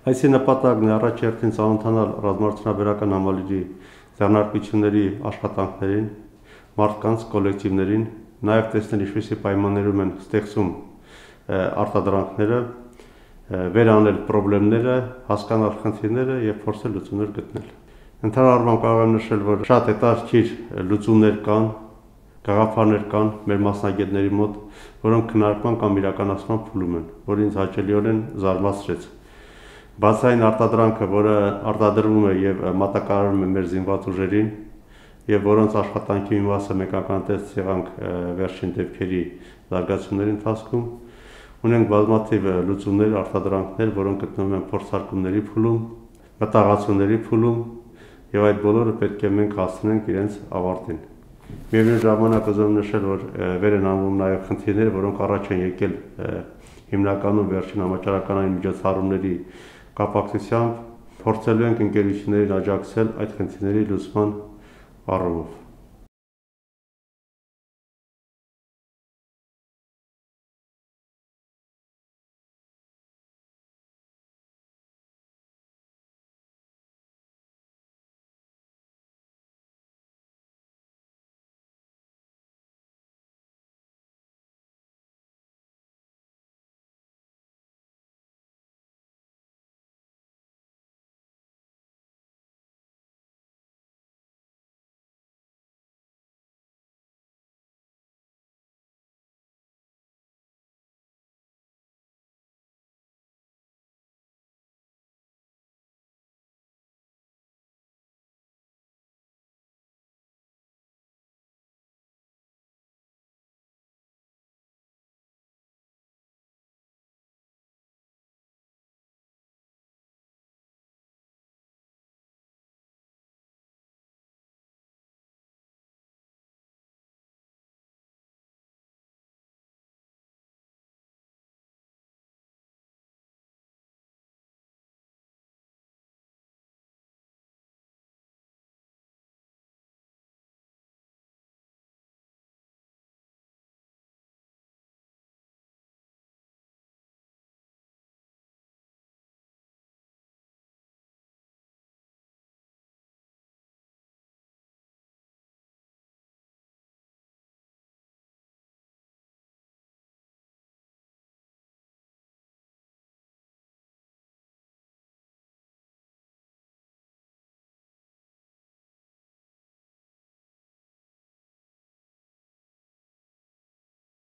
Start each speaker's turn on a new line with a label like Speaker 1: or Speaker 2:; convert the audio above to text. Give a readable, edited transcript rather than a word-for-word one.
Speaker 1: Այսի նպատակն է առաջ հերթին ծանոթանալ ռազմարտությունաբերական համալիրի ձեռնարկությունների աշխատանքներին, մարդկանց, կոլեկտիվներին, նաև տեսնել ինչպիսի պայմաններում են ստեղծում արտադրանքները, վերանել խնդիրները, հասկանալ խնդիրները եւ փորձել լուծումներ գտնել։ Ընդհանուր առմամբ կարող եմ նշել, որ շատ հետաքրքիր լուծումներ կան, գաղափարներ կան մեր մասնագետների մոտ, որոնք քննարկման կամ իրականացման փուլում են, որը ինձ հաճելիորեն զարմացրեց։ Բացի այն արտադրանքը, որը արտադրվում է եւ մատակարարվում է մեր զինված ուժերին, եւ որոնց աշխատանքի մի մասը մենք ականատես եղանք վերջին դեպքերի զարգացումների ընթացքում, ունենք բազմաթիվ լուծումներ, արտադրանքներ, որոնք գտնվում են փորձարկումների փուլում, մտահղացումների փուլում, եւ այդ բոլորը պետք է մենք հասցնենք իրենց ավարտին։ Միևնույն ժամանակ ուզում եմ նշել, որ վեր են անվում նաեւ խնդիրներ, որոնք առաջ են եկել հիմնականում վերջին համաճարականային միջոցառումների կապակցությամբ, փորձելու ենք ընկերություններին աջակցել այդ խնդիրների լուծման առումով։